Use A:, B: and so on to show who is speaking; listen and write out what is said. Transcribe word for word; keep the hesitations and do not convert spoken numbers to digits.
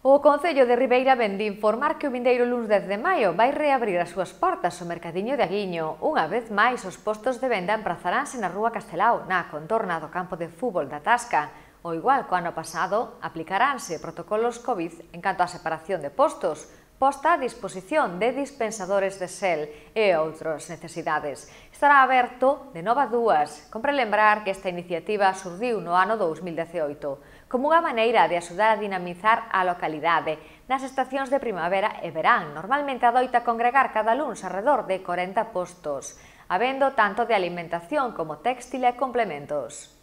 A: O Concello de Ribeira vén de informar que o vindeiro luns dez de maio vai reabrir as súas portas o Mercadiño de Aguiño. Unha vez máis, os postos de venda emprazaranse na Rúa Castelao, na contorna do campo de fútbol da Tasca. O igual co ano pasado, aplicaránse protocolos COVID en canto á separación de postos, posta a disposición de dispensadores de xel e outras necesidades. Estará aberto de nove a dúas. Compre lembrar que esta iniciativa surdiu no ano dous mil dezaoito como unha maneira de axudar a dinamizar a localidade nas estacións de primavera e verán. Normalmente adoita congregar cada luns arredor de corenta postos, habendo tanto de alimentación como téxtil e complementos.